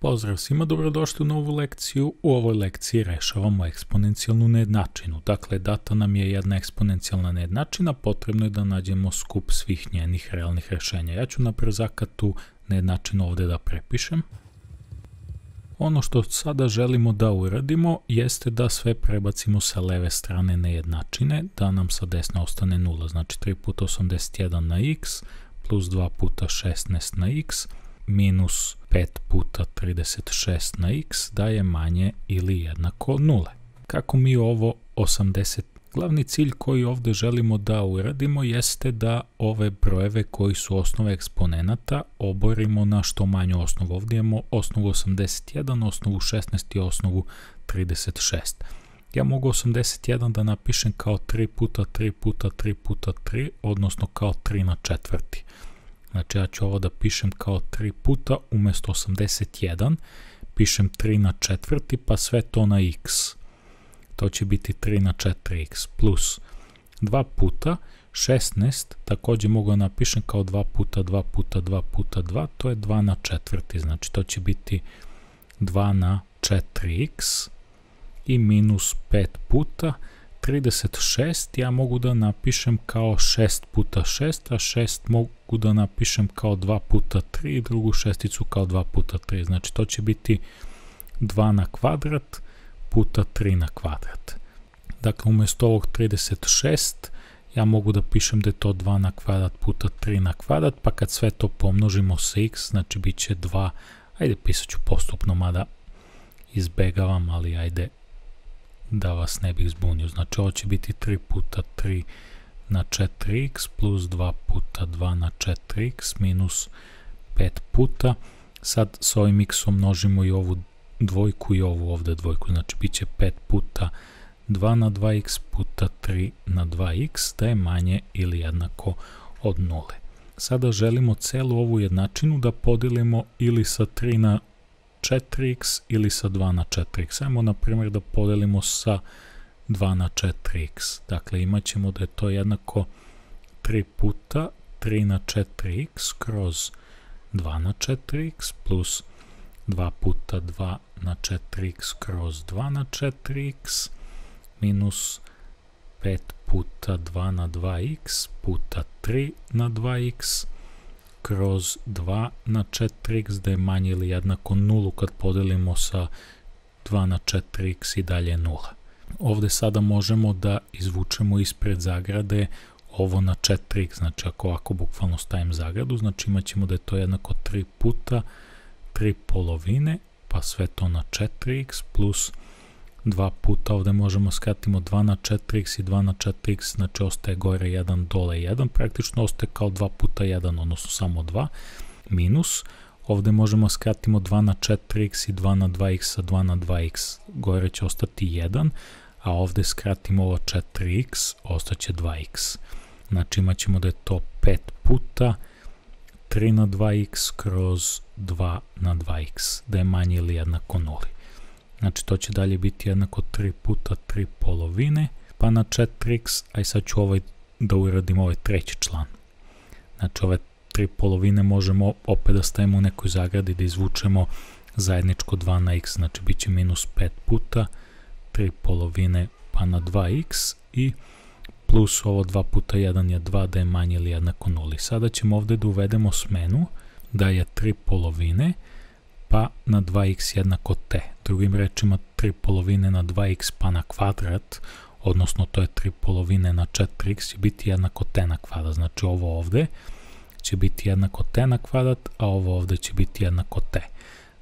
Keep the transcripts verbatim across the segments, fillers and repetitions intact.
Pozdrav svima, dobrodošli u novu lekciju. U ovoj lekciji rešavamo eksponencijalnu nejednačinu. Dakle, data nam je jedna eksponencijalna nejednačina, potrebno je da nađemo skup svih njenih realnih rešenja. Ja ću na brzaka tu nejednačinu ovde da prepišem. Ono što sada želimo da uradimo jeste da sve prebacimo sa leve strane nejednačine, da nam sa desne ostane nula. Znači tri puta osamdeset jedan na x plus dva puta šesnaest na x minus pet puta trideset šest na x daje manje ili jednako nule. Kako mi ovo osamdeset? Glavni cilj koji ovde želimo da uradimo jeste da ove brojeve koji su osnove eksponenata oborimo na što manju osnovu. Ovdje imamo osnovu osamdeset jedan, osnovu šesnaest i osnovu trideset šest. Ja mogu osamdeset jedan da napišem kao tri puta tri puta tri puta tri, odnosno kao tri na četvrti. Znači ja ću ovo da pišem kao tri puta, umjesto osamdeset jedan, pišem tri na četvrti, pa sve to na x. To će biti tri na četiri x plus dva puta šesnaest, također mogu da napišem kao dva puta dva puta dva puta dva, to je dva na četvrti, znači to će biti dva na četiri x i minus pet puta trideset šest, ja mogu da napišem kao šest puta šest, a šest mogu da napišem kao dva puta tri i drugu šesticu kao dva puta tri, znači to će biti dva na kvadrat puta tri na kvadrat. Dakle, umjesto ovog trideset šest, ja mogu da pišem da je to dva na kvadrat puta tri na kvadrat, pa kad sve to pomnožimo sa x, znači bit će dva, ajde pisat ću postupno, mada izbegavam, ali ajde da vas ne bih zbunio. Znači ovo će biti tri puta tri na četiri x plus dva puta dva na četiri x minus pet puta. Sad s ovim x-om množimo i ovu dvojku i ovu ovde dvojku, znači bit će pet puta dva na dva x puta tri na dva x da je manje ili jednako od nule. Sada želimo celu ovu jednačinu da podelimo ili sa tri na četiri x ili sa dva na četiri x. Ajmo na primjer da podelimo sa dva na četiri x. Dakle, imat ćemo da je to jednako tri puta tri na četiri x kroz dva na četiri x plus dva puta dva na četiri x kroz dva na četiri x minus pet puta dva na dva x puta tri na dva x kroz dva na četiri x da je manje ili jednako nulu kad podelimo sa dva na četiri x i dalje nula. Ovde sada možemo da izvučemo ispred zagrade ovo na četiri x, znači ako ovako bukvalno stavim zagradu, znači imat ćemo da je to jednako tri puta tri polovine, pa sve to na četiri x plus dva puta, ovde možemo skratimo dva na četiri x i dva na četiri x, znači ostaje gore jedan, dole jedan, praktično ostaje kao dva puta jedan, odnosno samo dva, minus, ovde možemo skratimo dva na četiri x i dva na dva x sa dva na dva x, gore će ostati jedan, a ovde skratimo ovo četiri x, ostaće dva x. Znači imat ćemo da je to pet puta tri na dva x kroz dva na dva x, da je manje ili jednako nuli. Znači to će dalje biti jednako tri puta tri polovine, pa na četiri x, a i sad ću ovaj da uradim ovaj treći član. Znači ove tri polovine možemo opet da stavimo u nekoj zagradi, da izvučemo zajedničko dva na x, znači bit će minus pet puta tri polovine pa na dva x i plus ovo dva puta jedan je dva, da je manje ili jednako nuli. Sada ćemo ovde da uvedemo smenu da je tri polovine pa na dva x jednako t. Drugim rečima tri polovine na dva x pa na kvadrat, odnosno to je tri polovine na četiri x će biti jednako t na kvadrat. Znači ovo ovde će biti jednako t na kvadrat, a ovo ovde će biti jednako t.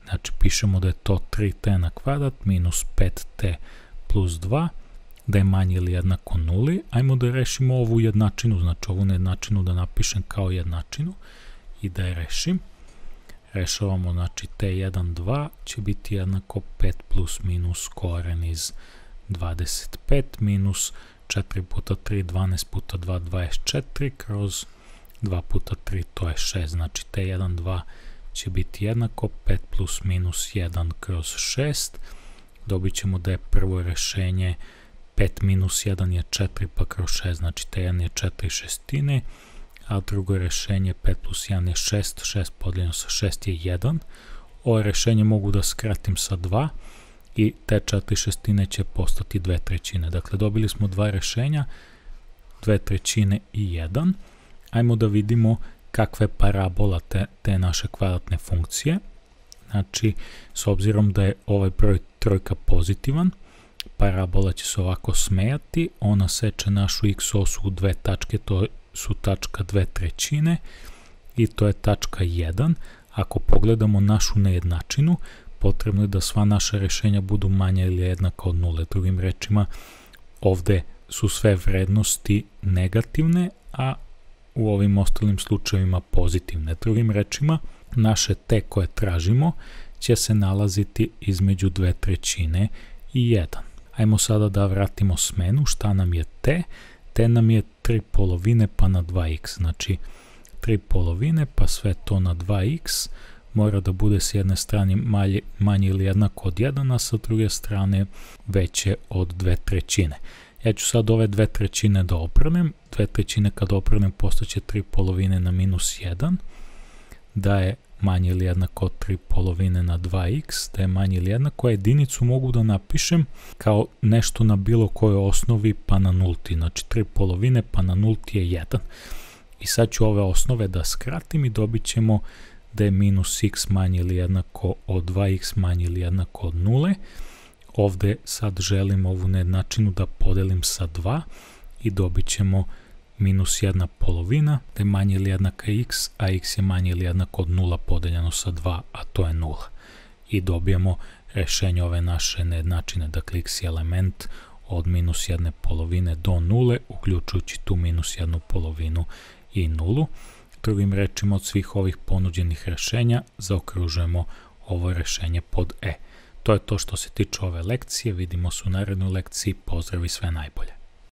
Znači pišemo da je to tri t na kvadrat minus pet t plus dva, da je manje ili jednako nuli. Ajmo da rešimo ovu jednačinu, znači ovu nejednačinu da napišem kao jednačinu i da je rešim. Rešavamo, znači t jedan, dva će biti jednako pet plus minus koren iz dvadeset pet minus četiri puta tri, dvanaest puta dva, dvadeset četiri kroz dva puta tri, to je šest, znači t jedan, dva će biti jednako pet plus minus jedan kroz šest, dobit ćemo da je prvo rešenje pet minus jedan je četiri pa kroz šest, znači t jedan je četiri šestine, a drugo rešenje pet plus jedan je šest, šest podeljeno sa šest je jedan, Ovo rešenje mogu da skratim sa dva i te četiri šestine će postati dve trećine. Dakle, dobili smo dva rešenja, dve trećine i jedan. Ajmo da vidimo kakva je parabola te, te naše kvadratne funkcije. Znači, s obzirom da je ovaj broj trojka pozitivan, parabola će se ovako smejati, ona seče našu x osu u dve tačke, to su tačka dve trećine i to je tačka jedan. Ako pogledamo našu nejednačinu, potrebno je da sva naša rešenja budu manja ili jednaka od nule. Drugim rečima, ovde su sve vrednosti negativne, a u ovim ostalim slučajevima pozitivne. Drugim rečima, naše t koje tražimo će se nalaziti između dve trećine i jedan. Ajmo sada da vratimo smenu. Šta nam je t? T nam je tri polovine pa na dva x. Znači, tri polovine pa sve to na dva x mora da bude s jedne strane manje, manje ili jednako od jedan, a sa druge strane veće od dve trećine. Ja ću sad ove dve trećine da obrnem. dve trećine kad obrnem postaće tri polovine na minus jedan, da je manje ili jednako od tri polovine na dva x, da je manje ili jednako, a jedinicu mogu da napišem kao nešto na bilo kojoj osnovi pa na nulti. Znači tri polovine pa na nulti je jedan. I sad ću ove osnove da skratim i dobit ćemo da je minus x manje ili jednako od dva x manje ili jednako od nule. Ovde sad želim ovu nejednačinu da podelim sa dva i dobit ćemo minus jedna polovina, da je manje ili jednaka x, a x je manje ili jednako od nula podeljeno sa dva, a to je nula. I dobijemo rešenje ove naše nejednačine, dakle x je element od minus jedne polovine do nule, uključujući tu minus jednu polovinu i nulu. Drugim rečima, od svih ovih ponuđenih rešenja zaokružujemo ovo rešenje pod E. To je to što se tiče ove lekcije, vidimo se u narednoj lekciji, pozdrav i sve najbolje.